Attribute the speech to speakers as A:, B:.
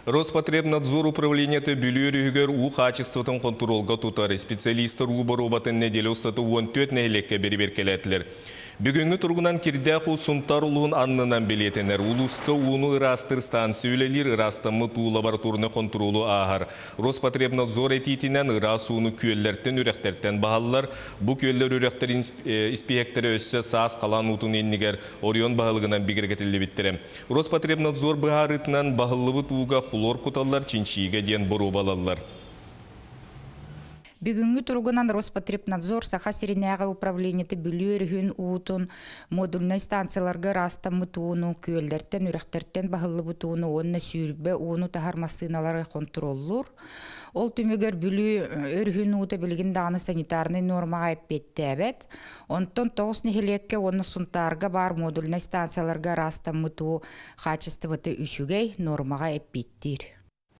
A: Роспотребнадзор управлениета Бүлүү өрүһүгэр уу хаачыстыбатын хонтуруолга тутар. Специалистар уу боруобатын нэдиэлэ устата 14 нэһилиэккэ бэрэбиэркэлээтилэр. Бүгүҥҥү туругунан кирдээх уу Сунтаар улууһун аннынан бэлиэтэнэр. Улууска ууну ыраастыыр станция үлэлиир, ыраастаммыт уу лабораторнай хонтуруолу ааһар. Роспотребнадзор этиитинэн ыраас ууну күөллэртэн, үрэхтэртэн баһаллар. Бу күөллэр үрэхтэр испииһэктэрэ өссө саас халаан уутун иннигэр оройуон баһылыгынан бигэргэтиллибиттэрэ. Роспотребнадзор быһаарыытынан баһыллыбыт ууга хлор куталлар, чинчийиигэ диэн боруобалаллар.
B: Бүгүҥҥү туругунан Роспотребнадзор Саха сиринээҕи управлениета Бүлүү өрүһүн уутун модульнай станцияларга ыраастаммыт ууну, күөллэртэн, үрэхтэртэн баһыллыбыт ууну уонна сүүрбэ ууну таһар массыыналары хонтуруоллуур. Ол түмүгэр Бүлүү өрүһүн уута билигин даҕаны санитарнай нуормаҕа эппиэттээбэт. Онтон 9 нэһилиэккэ уонна Сунтаарга баар модульнай станцияларга ыраастаммыт уу хаачыстыбата үчүгэй, нуормаҕа эппиэттиир.